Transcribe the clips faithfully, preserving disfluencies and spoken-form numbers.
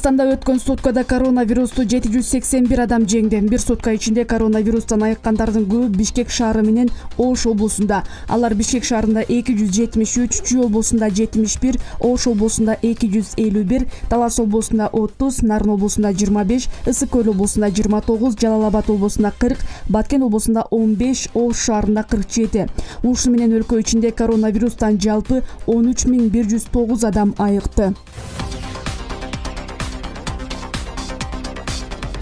Кыргызстанда өткөн суткада коронавирусту жети жүз сексен бир адам жеңди. Бир сутка ичинде коронавирустан айыккандардын көбү Бишкек шаары менен Ош облусунда. Алар Бишкек шаарында эки жүз жетимиш үч, Чүй облусунда жетимиш бир, Ош облусунда эки жүз элүү бир, Талас облусунда отуз, Нарын облусунда жыйырма беш, Ысык Көл облусунда жыйырма тогуз, Жалал Абад облусунда кырк, Баткен облусунда он беш, Ош шаарында кырк жети. Ушуну менен өлкө ичинде коронавирустан жалпы он үч миң бир жүз тогуз адам айыкты.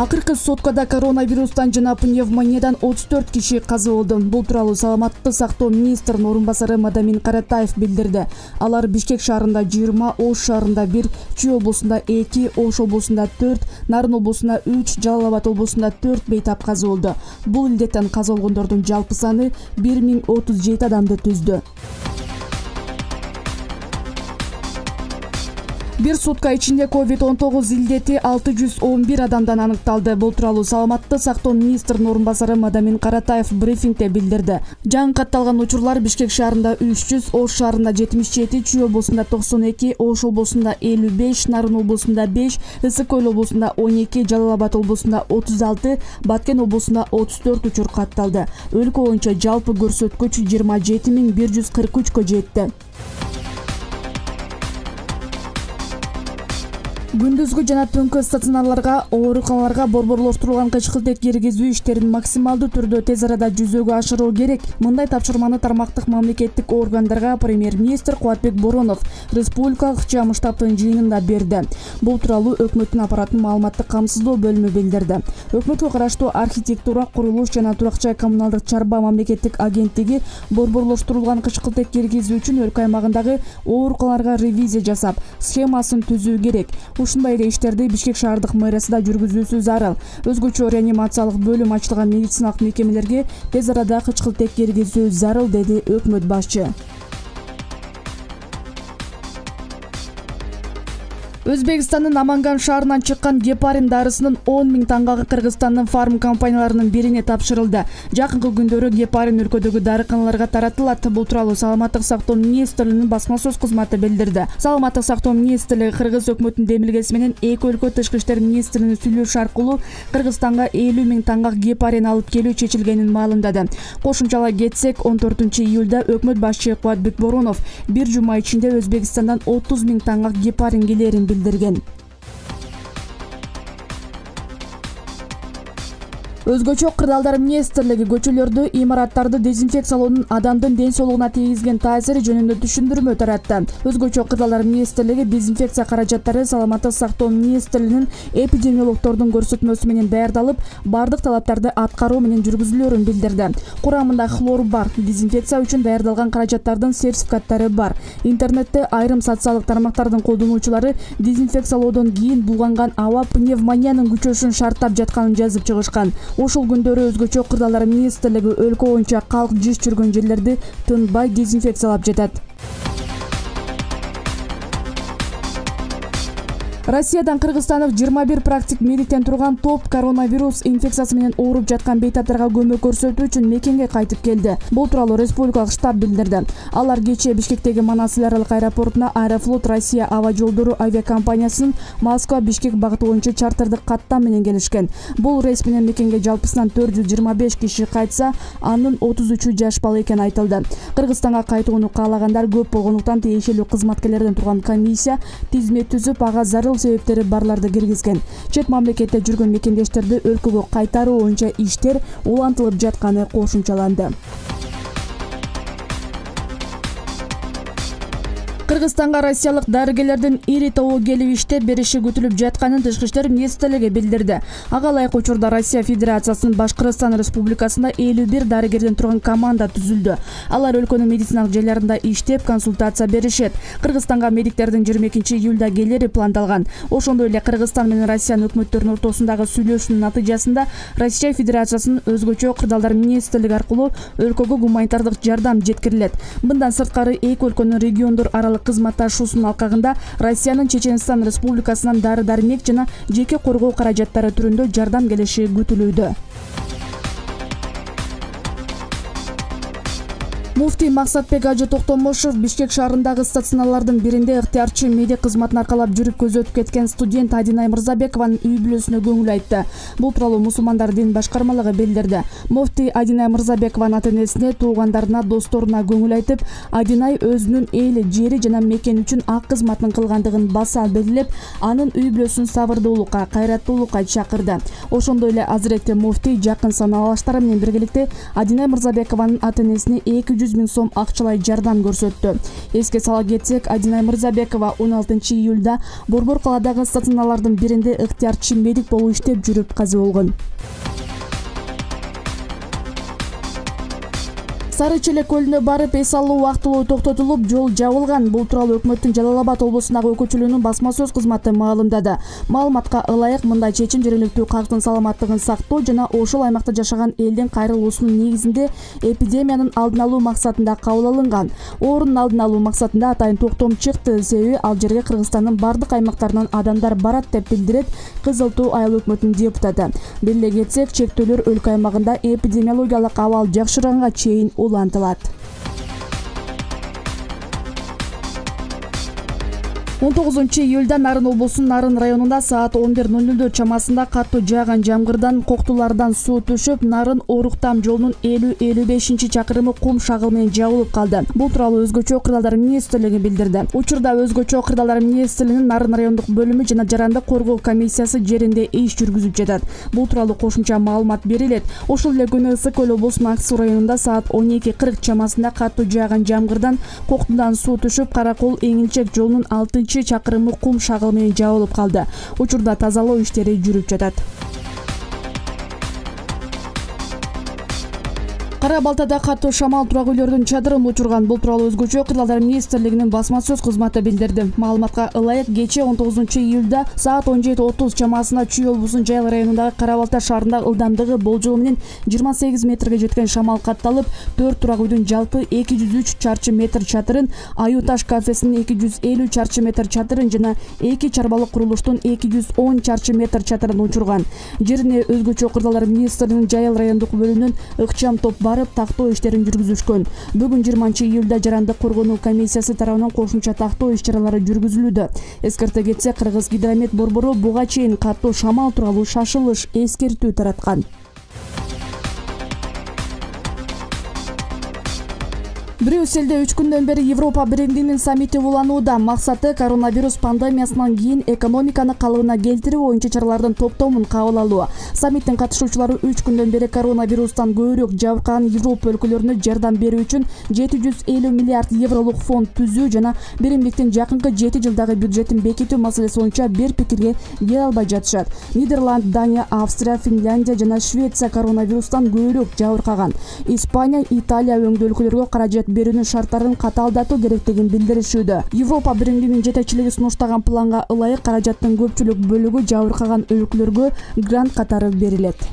Акыркы суткада коронавирустан жана пневмониядан отуз төрт киши каза болду. Бул тууралуу Саламаттыкты сактоо министринин орун басары Мадамин Каратаев билдирди. Алар Бишкек шаарында жыйырма, Ош шаарында бир, Чүй облусунда эки, Ош облусунда төрт, Нарын облусунда үч, Жалал Абад облусунда төрт бейтап каза болду. Бул илдеттен каза болгондордун жалпы саны бир миң отуз жети адамды түздү. Бир сутка ичинде ковид он тогуз илдети алты жүз он бир адамдан аныкталды. Бул тууралуу Саламаттыкты сактоо министринин орун басары Мадамин Каратаев брифингде билдирди. Жаңы катталган учурлар Бишкек шаарында үч жүз, Ош шаарында жетимиш жети, Чүй облусунда токсон эки, Ош облусунда элүү беш, Нарын облусунда беш, Ысык Көл облусунда он эки, Жалал Абад облусунда отуз алты, Баткен облусунда отуз төрт учур катталды. Өлкө боюнча жалпы көрсөткүч жыйырма жети миң бир жүз кырк үчкө жетти. Күндүзгү жана түнкү стационарларга, ооруканаларга борборлоштурулган кычкылтек киргизүү иштерин максималдуу түрдө тез арада жүзөгө ашыруу керек. Мындай тапшырманы тармактык мамлекеттик органдарга премьер-министр Кубатбек Боронов республикалык ыкчам штабтын жыйынында берди. Бул тууралуу өкмөттүн аппараттын маалыматтык камсыздоо бөлүмү билдирди. Өкмөткө караштуу архитектура, курулуш жана турак-жай коммуналдык чарба мамлекеттик агенттиги борборлоштурулган кычкылтек киргизүү үчүн өлкө аймагындагы ооруканаларга ревизия жасап, схемасын түзүү керек. Ушундай эле иштерди Бишкек шаардык мэриясы да жүргүзүүсү зарыл. Өзгөчө реанимациялык бөлүм ачылган медициналык мекемелерге тез арада кычкылтек киргизүү зарыл, деди өкмөт башчы. Өзбекстандын Аманган шаарынан чыккан гепарин дарысынын он миң таңгагы Кыргызстандын фарм компанияларынын бирине тапшырылды. Жакынкы күндөрү гепарин өлкөдөгү дарыканаларга таратылат. Бул тууралуу Саламаттык сактоо министрлигинин басма сөз кызматы билдирди. Саламаттык сактоо министрлиги Кыргыз өкмөтүнүн демилгеси менен эки өлкө тышкы иштер министринин сүйлөшү аркылуу Кыргызстанга элүү миң таңгак гепарин алып келүү чечилгенин маалымдады. Кошумчалай кетсек, он төртүнчү июлда өкмөт башчы Кубатбек Боронов бир жума ичинде Өзбекстандан отуз миң таңгак гепарин келерин билдирген. Өзгөчө Кырдаалдар министрлиги көчөлөрдү, имараттарды дезинфекциялоонун адамдын ден соолугуна тийгизген таасири жөнүндө түшүндүрмө таратты. Өзгөчө Кырдаалдар министрлиги дезинфекция каражаттары Саламаттык сактоо министрлигинин эпидемиологдордун көрсөтмөсү менен даярдалып, бардык талаптарды аткаруу менен жүргүзүлөөрүн билдирди. Курамында хлор бар, дезинфекция үчүн даярдалган каражаттардын сертификаттары бар. Интернетте айрым социалдык тармактардын колдонуучулары дезинфекциялоодон кийин булганган аба пневмониянын күчөшүн шарттап жатканын жазып чыгышкан. Ушул күндөрү өзгөчө Кырдаалдар министрлиги өлкө боюнча калк жыш жүргөн жерлерди тынбай дезинфекциялап жатат. Россиядан Кыргызстандык жыйырма бир практик медиктен турган топ коронавирус инфекциясы менен ооруп жаткан бейтаптарга көмөк көрсөтүү үчүн мекенге кайтып келди. Бул тууралуу республикалык штаб билдирди. Алар кечээ Бишкектеги Манас эл аралык аэропортуна Аэрофлот Россия аба жолдору авиакомпаниясынын Москва-Бишкек багыты боюнча чартerdик каттам менен келишкен. Бул рейс менен мекенге жалпысынан төрт жүз жыйырма беш киши кайтса, анын отуз үчү жаш бала экени айтылды. Кыргызстанга кайтууну каалагандар көп болгондуктан тиешелүү кызматкерлерден турган комиссия тизме түзүп, ага зарыл себептери барларды киргизген. Чет мамлекетте жүргөн мекендештерди өлкөгө кайтаруу боюнча иштер улантылып жатканы кошумчаланды. Кыргызстанга россиялык дарыгерлердин ири тобу келип иштеп бериши күтүлүп жатканын Тышкы иштер министрлиги билдирди. Ага ылайык учурда Россия Федерациясынын Башкырстан Республикасында элүү бир дарыгерден турган команда түзүлдү. Алар өлкөнүн медициналык жайларында иштеп, консультация беришет. Кыргызстанга медиктердин жыйырма экинчи июлда келери пландалган. Ошондой эле Кыргызстан менен Россиянын өкмөттөрүнүн ортосундагы сүйлөшүүнүн натыйжасында Россия Федерациясынын өзгөчө Кырдаалдар министрлиги аркылуу өлкөгө гуманитардык жардам жеткирилет. Мындан сырткары эки өлкөнүн региондор аралык кызматташуусунун алкагында Россиянын Чеченстан Республикасынан дары-дармек жана жеке коргоо каражаттары түрүндө жардам келиши күтүлүүдө. Муфтий Максатбек Ажы Токтомушев Бишкек шаарындагы стационарлардын биринде ыктыярчы медик кызматын аркалап жүрүп көзөтүп кеткен студент Адинай Мырзабекованын үй бүлөсүнө көңүл айтты. Бул тууралуу мусулмандар дин башкармалыгы билдирди. Муфтий Адинай Мырзабекованын ата-энесине, туугандарына, досторуна көңүл айтып, Адинай өзүнүн эли, жери жана мекени үчүн ак кызматын кылгандыгын баса белгилеп, анын үй бүлөсүн сабырдуулукка, кайраттуулукка чакырды. Ошондой эле Азиретти муфтий жакын санаалаштары менен биргеликте Адинай Мырзабекованын ата-энесине эки жүз миң сом акчалай жардам көрсөттү. Эске сала кетсек, Адинай Мырзабекова он алтынчы июлда Борбор калаадагы стационарлардын биринде ыктыярчы медик болуп иштеп жүрүп каза болгон. Сары Челек көлүнө барып эс алуу убактылуу токтотулуп, жол жабылган. Бул тууралуу өкмөттүн Жалал Абад облусундагы өкүлчүлүгүнүн басма сөз кызматы маалымдады. Маалыматка ылайык, мындай чечим жергиликтүү калктын саламаттыгын сактоо жана ошол аймакта жашаган элдин кайрылуусунун негизинде эпидемиянын алдын алуу максатында кабыл алынган. Оорунун алдын алуу максатында атайын токтом чыкты, себеби ал жерге Кыргызстандын бардык аймактарынан адамдар барат деп билдирет Кызыл Тоо айыл өкмөтүнүн депутаты. Беле кетсек, чектөөлөр өлкө аймагында эпидемиологиялык абал жакшырганга чейин улантылат. он тогузунчу июлда Нарын облусунун Нарын районунда саат он бир ноль нолдор чамасында катуу жааган жамгырдан коктулардан суу түшүп, Нарын Оруктам жолунун элүү элүү бешинчи чакырымы кум шагыл менен жабылып калды. Бул тууралуу Өзгөчө кырдаалдар министрлиги билдирди. Учурда Өзгөчө кырдаалдар министрлигинин Нарын райондук бөлүмү жана жарандык коргоо комиссиясы жеринде иш жүргүзүп жатат. Бул тууралуу кошумча маалымат берилет. Ошол эле күнү Ысык көл облусунун Ак Суу районунда саат он эки кырк чамасында катуу жааган жамгырдан коктудан суу түшүп, Каракол Эңилчек жолунун алтынчы чакырымы кум шагыл менен жабылып калды. Учурда тазалоо иштери жүрүп жатат. Кара Балтада катуу шамал турак үйлөрдүн чадырын учурган. Бул тууралуу Өзгөчө кырдаалдар министрлигинин басма сөз кызматы билдирди. Маалыматка ылайык, кечээ он тогузунчу июлда саат он жети отуз чамасында Чүй облусунун Жайыл районундагы Кара Балта шаарында ылдамдыгы болжол менен жыйырма сегиз метрге жеткен шамал катталып, төрт турак үйдүн жалпы эки жүз үч чарчы метр чатырын, Аю Таш кафесинин эки жүз элүү чарчы метр чатырын жана эки чарбалык курулуштун эки жүз он чарчы метр чатырын учурган. Жерине Өзгөчө кырдаалдар министрлигинин Жайыл райондук бөлүмүнүн ыкчам топ барып тактоо иштерин жүргүзүшкөн. Бүгүн жыйырманчы июлда жарандык коргонуу комиссиясы тарабынан кошумча тактоо иш-чаралары жүргүзүлүүдө. Эскерте кетсе, Кыргыз гидромет борбору буга чейин катуу шамал тууралуу шашылыш эскертүү тараткан. Брюсселде үч күндөн бери Европа биримдигинин саммити уланууда. Максаты коронавирус пандемиясынан кийин экономиканы калыбына келтирүү боюнча чаралардын топтомун кабыл алуу. Саммиттин катышуучулары үч күндөн бери коронавирустан көбүрөөк жабыркаган Европа өлкөлөрүнө жардам берүү үчүн жети жүз элүү миллиард евролук фонд түзүү жана биримдиктин жакынкы жети жылдагы бюджетин бекитүү маселеси боюнча бир пикирге келе албай жатышат. Нидерланд, Дания, Австрия, Финляндия жана Швеция коронавирустан көбүрөөк жабыркаган. Испания, Италия өңдүү өлкөлөргө каражат берүүнүн шарттарын катаалдатуу керектигин билдиришүүдө. Европа биримдигинин жетекчилиги сунуштаган планга ылайык каражаттын көпчүлүк бөлүгү жабыркаган өлкөлөргө грант катары берилет.